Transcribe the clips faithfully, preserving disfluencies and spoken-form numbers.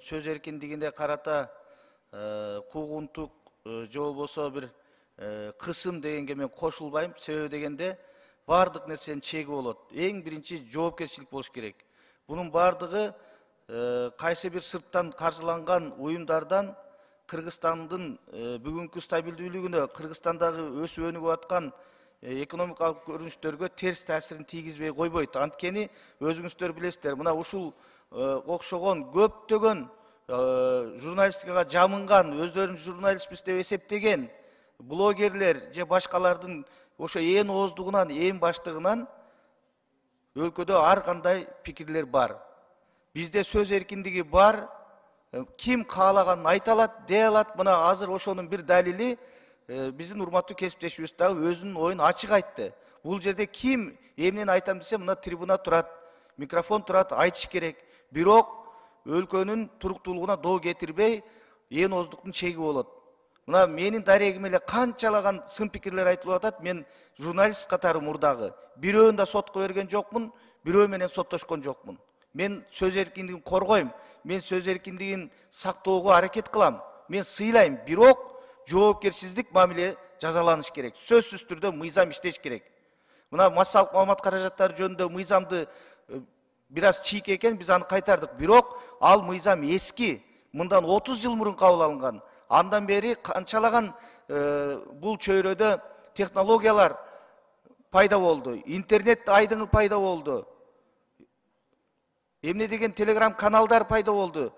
сөз эркиндигине карата куугунтук же болбосо бир кысым дегенге мен кошулбайм. Себеби дегенде бардык нерсенин чеги болот. Эң биринчи жоопкерчилик болуш керек. Бунун бардыгы кайсы бир сырттан каржыланган уюмдардан Кыргызстандын бүгүнкү стабилдүүлүгүнө, Кыргызстандагы өсүп өнүгүп аткан экономикалык көрүнүштөргө терс таасирин тийгизбей койбойт. Анткени өзүңүздөр билесиздер, мына ушул окшогон көптөгөн журналистикага жамынган, өздөрүн журналистпиз деп эсептеген блогерлер же башкалардын ошо ээн ооздугунан, ээн баштыгынан өлкөдө ар кандай пикирлер бар. Бизде сөз эркиндиги бар. Ким каалаганын айта алат, дей алат. Мына азыр ошонун бир далили биздин урматтуу кесиптешибиз дагы өзүнүн оюн ачык айтты. Бул жерде ким эмнени айтам десе, мына трибуна турат, микрофон турат, айтыш керек. Бирок өлкөнүн туруктуулугуна доо кетирбей, ээн ооздуктун чеги болот. Мына менин дарегиме эле канчалаган сын пикирлер айтылып атат. Мен журналист катары мурдагы бирөөнү да сотко берген жокмун, бирөө менен соттошкон жокмун. Мен сөз эркиндигин коргойм. Мен сөз эркиндигин сактоого аракет кылам. Мен сыйлайм. Бирок жоопкерсиздик мамиле жазаланыш керек. Сөзсүз түрдө мыйзам иштеш керек. Мына массалык маалымат каражаттары жөнүндө мыйзамды бир аз чийик экен, биз аны кайтардык. Бирок ал мыйзам эски. Мындан отуз жыл мурун кабыл алынган. Андан бери канчалаган бул чөйрөдө технологиялар пайда болду. Интернет айдыңы пайда болду. Эмне деген телеграм каналдар пайда болду.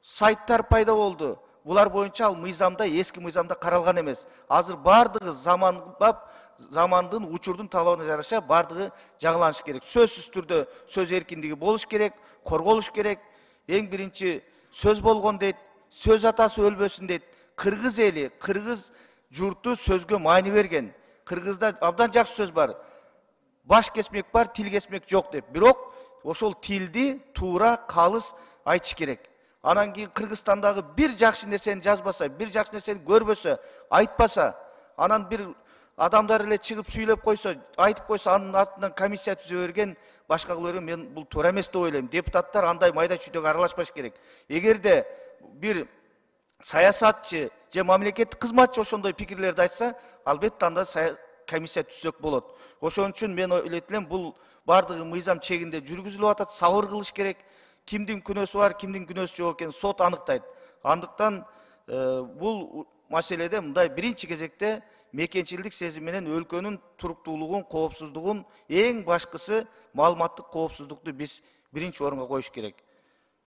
Сайттар пайда болду. Булар боюнча ал мыйзамда, эски мыйзамда каралган эмес. Азыр бардыгы заманбап, замандын, учурдун талабына жараша бардыгы жаңыланыш керек. Сөзсүз түрдө сөз эркиндиги болуш керек, корголуш керек. Эң биринчи сөз болгон дейт, сөз атасы өлбөсүн дейт. Кыргыз эли, кыргыз журту сөзгө маани берген. Кыргызда абдан жакшы сөз бар. Баш кесмек бар, тил кесмек жок деп. Бирок ошол тилди туура, калыс айтыш керек. Анан кийин Кыргызстандагы бир жакшы нерсени жазбаса, бир жакшы нерсени көрбөсө, айтпаса, анан бир адамдар эле чыгып сүйлөп койсо, айтып койсо, анын артынан комиссия түзө берген, башка кыла берген, мен бул туура эмес деп ойлойм. Депутаттар андай майда чүйдөккө аралашпаш керек. Эгерде бир саясатчы же мамлекеттик кызматчы ошондой пикирлерди айтса, албетте анда комиссия түзсөк болот. Ошон үчүн мен ойлойт элем, бул бардыгы мыйзам чегинде жүргүзүлүп атат, сабыр кылыш керек. Кимдин күнөөсү бар, кимдин күнөөсү жок экенин сот аныктайт. Андыктан бул маселеде мындай биринчи кезекте мекенчилдик сезим менен өлкөнүн туруктуулугун, коопсуздугун, эң башкысы маалыматтык коопсуздукту биз биринчи орунга коюш керек.